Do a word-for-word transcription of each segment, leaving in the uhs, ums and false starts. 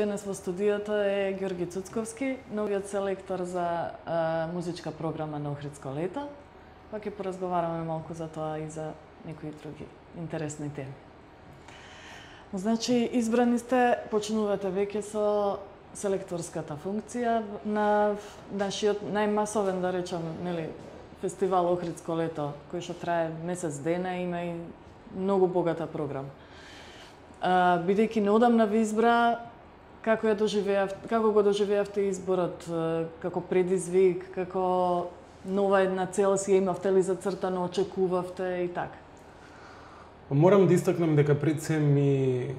Денес во студиото е Ѓорги Цуцковски, новиот селектор за а, музичка програма на Охридско лето. Па ќе поразговараме малку за тоа и за некои други интересни теми. Значи, избрани сте, почнувате веќе со селекторската функција на нашиот најмасовен, да речам, нели, фестивал Охридско лето, кој што трае месец дена, има и многу богата програма. А, бидејќи неодамна ви избра, како ја доживеав, како го доживеавте изборот, како предизвик, како нова една цел си имавте ли зацртано, очекувавте и така? Морам да истакнам дека пред се ми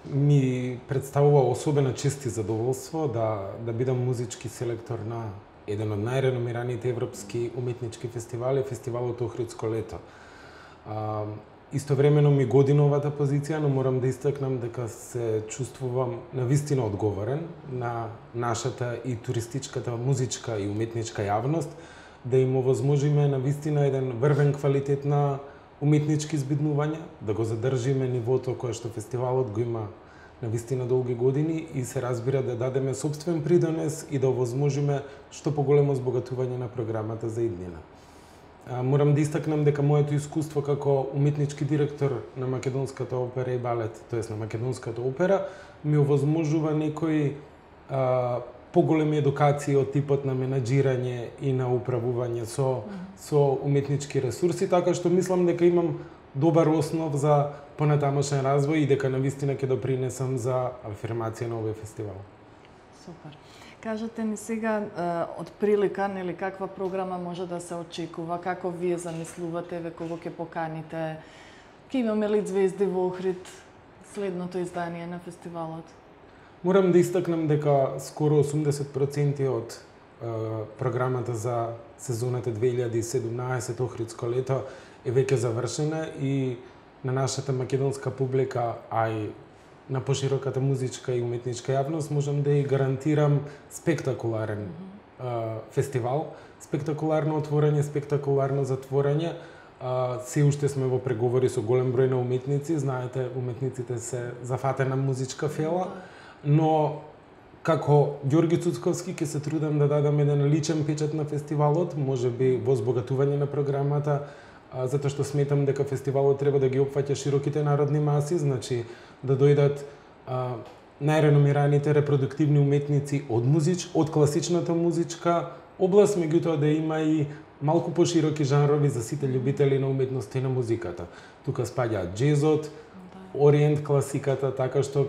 ми представува особена чест и задоволство да да бидам музички селектор на еден од најреномираните европски уметнички фестивали, фестивалот Охридско лето. А, Истовремено ми годи новата позиција, но морам да истакнам дека се чувствувам навистина одговорен на нашата и туристичката музичка и уметничка јавност, да им овозможиме навистина еден врвен квалитет на уметнички збиднувања, да го задржиме нивото кое што фестивалот го има навистина долги години и се разбира да дадеме сопствен придонес и да овозможиме што поголемо збогатување на програмата за иднина. Морам да истакнам дека моето искуство како уметнички директор на Македонската опера и балет, тоест на Македонската опера, ми овозможува некои а, поголеми едукации од типот на менаџирање и на управување со со уметнички ресурси, така што мислам дека имам добар основ за понатамошен развој и дека навистина ќе допринесам за афирмација на овој фестивал. Супер. Кажете ни сега од прилика, нели, каква програма може да се очекува, како вие замислувате, ве кого ќе поканите, ќе имаме ли звезди во Охрид следното издание на фестивалот? Морам да истакнам дека скоро осумдесет проценти од е, програмата за сезоната две илјади и седумнаесет Охридско лето е веќе завршена и на нашата македонска публика, а и на пошироката музичка и уметничка јавност можам да ја гарантирам спектакуларен mm -hmm. фестивал, спектакуларно отворање, спектакуларно затворање. А, се уште сме во преговори со голем број на уметници, знаете, уметниците се зафатена музичка фела, но како Ѓорги Цуцковски ќе се трудам да дадам еден личен печат на фестивалот, можеби во збогатување на програмата, а, затоа што сметам дека фестивалот треба да ги опфаќа широките народни маси, значи да дојдат а, најреномираните репродуктивни уметници од музич, од класичната музичка област, меѓутоа да има и малку пошироки жанрови за сите љубители на уметноста и на музиката. Тука спаѓаат џезот, ориент класиката, така што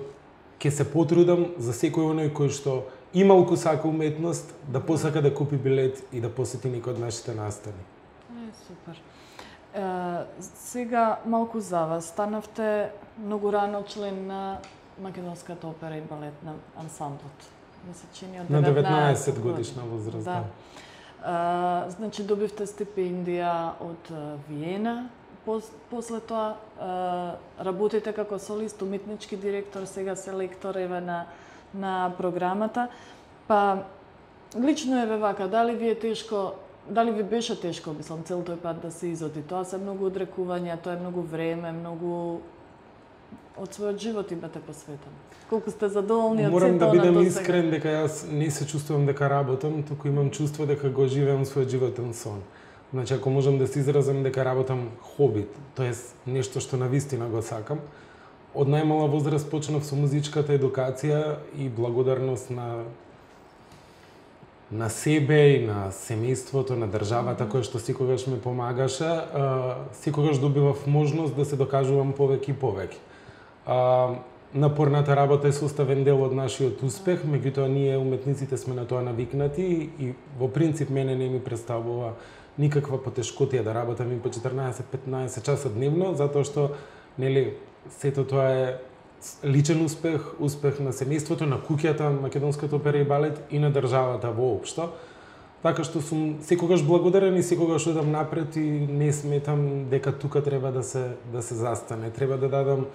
ќе се потрудам за секој оној кој што ималку сака уметност да посака да купи билет и да посети некој од нашите настани. Е, супер. Е, сега малку за вас. Станавте многу рано член на Македонската опера и балетна ансамблот. Ми се чини од на деветнаесет годишна возраст. Да. А, значи добивте стипендија од Виена. Пос, после тоа а, работите како солист, уметнички директор, сега селектор еве на на програмата. Па лично еве вака, дали ви е тешко, дали ви беше тешко, мислам, цел тој пат да се изоди? Тоа се многу одрекувања, тоа е многу време, многу од својот живот имате посветен. Колку сте задоволни од Морам сето да на бидам досега? искрен дека јас не се чувствувам дека работам, туку имам чувство дека го живеам својот животен сон. Значи, ако можам да се изразам дека работам хоби, тоест нешто што навистина го сакам, од најмала возраст почнав со музичката едукација и благодарност на на себе и на семејството, на државата mm -hmm. која што секогаш ми помагаше, а, секогаш добивав можност да се докажувам повеќе и повеќе. А, напорната работа е составен дел од нашиот успех, меѓутоа ние уметниците сме на тоа навикнати и во принцип мене не ми представува никаква потешкотија да работам и по четрнаесет до петнаесет часа дневно, затоа што нели сето тоа е личен успех, успех на семејството, на куќата, Македонската опера и балет и на државата воопшто. Така што сум секогаш благодарен и секогаш одам напред и не сметам дека тука треба да се да се застане. Треба да дадам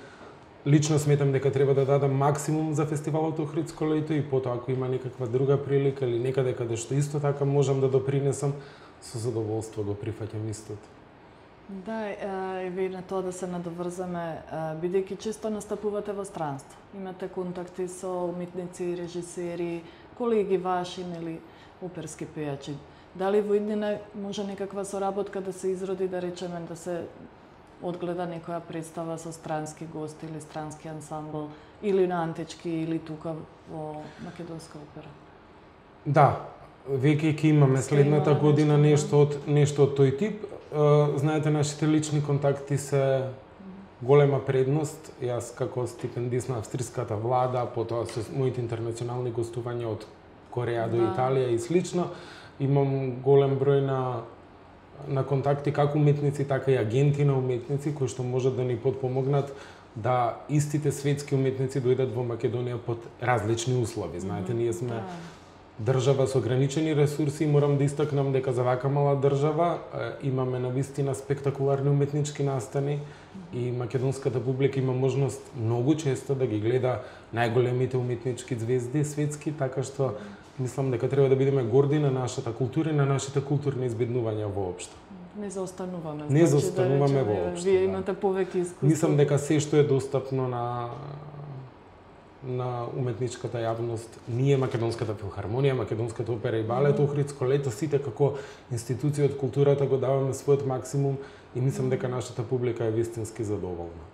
лично сметам дека треба да дадам максимум за фестивалот Охридско лето и потоа ако има некаква друга прилика или некаде каде што исто така можам да допринесам, со задоволство го прифаќам истото. Да, и ви на тоа да се надоврзаме, бидејќи често настапувате во странство. Имате контакти со уметници, режисери, колеги ваши или оперски пејачи. Дали во иднина може некаква соработка да се изроди, да речеме, да се одгледа некоја представа со странски гости или странски ансамбл, или на антички, или тука во македонска опера? Да, веќе ќе имаме следната година нешто од нешто од тој тип. Знаете, нашите лични контакти се голема предност. Јас како стипендист на австриската влада, потоа со моите интернационални гостувања од Кореја до Италија и слично, имам голем број на на контакти како уметници, така и агенти на уметници кои што можат да ни подпомогнат да истите светски уметници дојдат во Македонија под различни услови. Знаете, ние сме држава со ограничени ресурси и морам да истакнам дека за вака мала држава имаме навистина спектакуларни уметнички настани и македонската публика има можност многу често да ги гледа најголемите уметнички звезди светски, така што мислам дека треба да бидеме горди на нашата култура и на нашите културни избеднувања воопшто. Не заостануваме. Не заостануваме воопшто. Вие имате повеќе искуство. Мислам дека се што е достапно на на уметничката јавност, ние Македонската филхармонија, Македонската опера и балет, Охридско лето, сите како институции од културата го даваме својот максимум и мислам дека нашата публика е вистински задоволна.